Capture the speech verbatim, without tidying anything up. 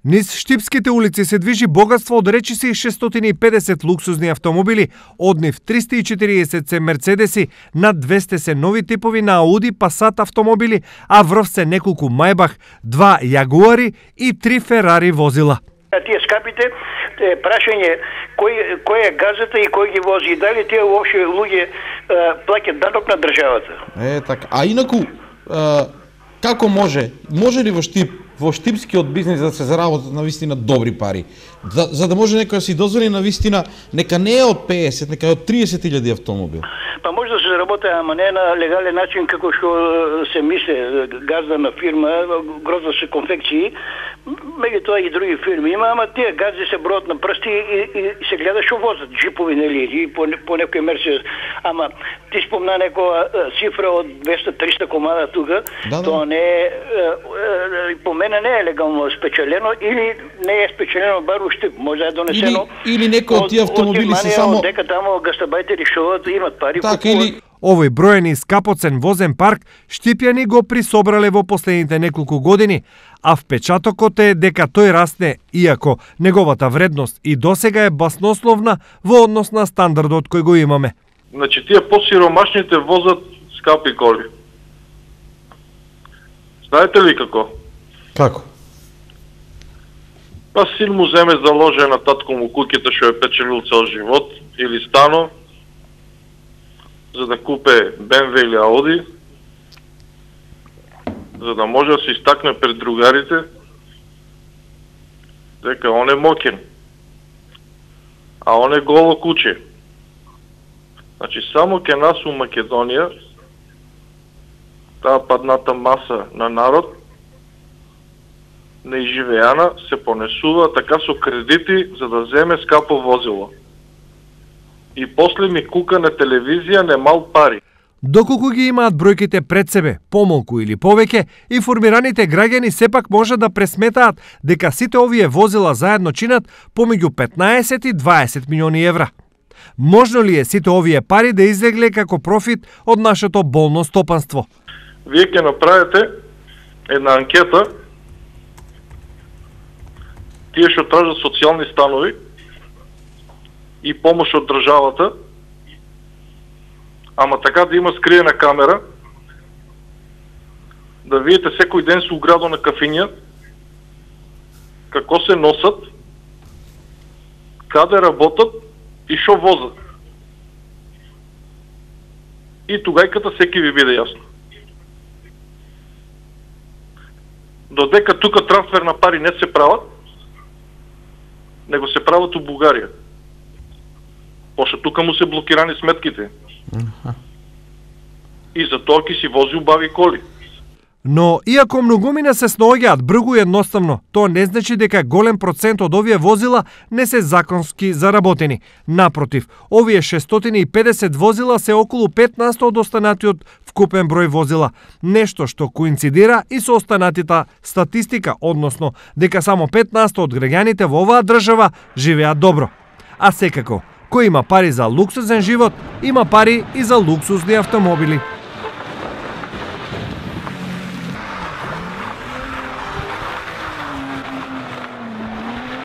Низ штипските улици се движи богатство од речиси шестстотини и педесет луксузни автомобили, од нив триста и четириесет се Мерцедеси, над двесте се нови типови на Ауди, Пасат автомобили, а врв се неколку Мајбах, два Јагуари и три Ферари возила. Тие скапите е прашање кој кој е газата и кој ги вози, дали тие воопшто луѓе плаќаат данок на државата. Е така. А инаку е, како може? Може ли во Штип, во штипскиот бизнис да се заработат на вистина добри пари? За, за да може некој да си дозволи на вистина, нека не е од педесет, нека е од триесет илјади автомобил. Па може да се заработи, ама не на легален начин како што се мисли, газдана фирма, грозда се конфекции, меѓу тоа и други фирми има, ама тие газди се бројат на прсти и, и, и се гледа што возат, джипови нели, и по, по некој Мерцедес. Ама ти спомна некоја цифра од двеста до триста комада тука, да, тоа не е, по мене не е легално спечелено или не е спечелено бар уште, може да е донесено. Или, или некој од тие автомобили се само дека таму гастабајтери што имат пари. Так, или Овој броен и скапоцен возен парк штипјани го присобрале во последните неколку години, а впечатокот е дека тој расне, иако неговата вредност и досега е баснословна во однос на стандардот кој го имаме. Значи, тие посиромашните возат скапи коли. Знаете ли како? Како? Па син му земе заложе на татко му куќата што е печелил цел живот, или стано, за да купе Бе Ем Ве или Ауди, за да може да се истакне пред другарите дека он е мокен, а он е голо куче. Значи, само ке нас у Македонија таа падната маса на народ неиживеана се понесува така со кредити за да земе скапо возило. И после ми кука на телевизија немал пари. Доколку ги имаат бројките пред себе, помалку или повеќе, информираните граѓани сепак може да пресметаат дека сите овие возила заедно чинат помеѓу петнаесет и дваесет милиони евра. Можно ли е сите овие пари да излегле како профит од нашето болно стопанство? Вие ќе направите една анкета, тие што тражат социјални станови и помош од државата, ама така да има скриена камера, да видите секој ден со уградо на кафиња, како се носат, каде работат и шо возат. И тугајката секи ви биде јасно. Додека тука трансфер на пари не се прават, него се прават у Бугарија. Пошто тука му се блокирани сметките. Uh-huh. И затоа ќе си вози убави коли. Но, иако многумина се снаоѓаат бргу и едноставно, тоа не значи дека голем процент од овие возила не се законски заработени. Напротив, овие шестстотини и педесет возила се околу пет на сто од останатиот вкупен број возила, нешто што коинцидира и со останатите статистика, односно дека само пет на сто од граѓаните во оваа држава живеат добро. А секако, кој има пари за луксузен живот, има пари и за луксузни автомобили.